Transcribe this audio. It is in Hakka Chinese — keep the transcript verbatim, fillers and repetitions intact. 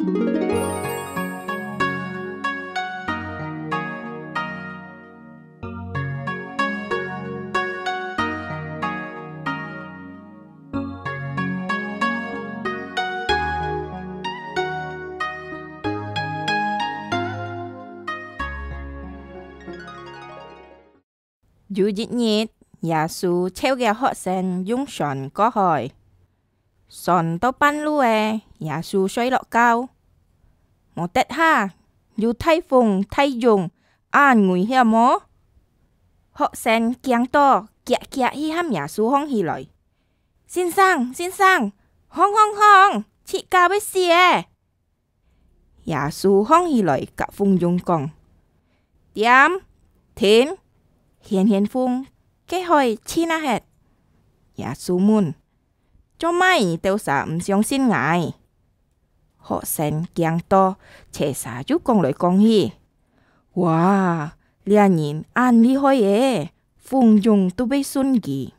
有一日，耶穌召个學生用船過海。船到半路仔，耶穌睡落覺。無得下，有大風大湧，恁危險無？學生驚到，遽遽去喊耶穌䟘起來：「先生，先生，䟘，䟘，䟘，自家會死咧！」 耶穌䟘起來，甲風湧講：「恬，恬！」掀掀風，該海靜啊忒。耶穌問：「做麼你兜儕毋相信𠊎？」學生驚到，齊儕又講來講去：「哇，這人恁厲害欸！ 風湧都會順佢。」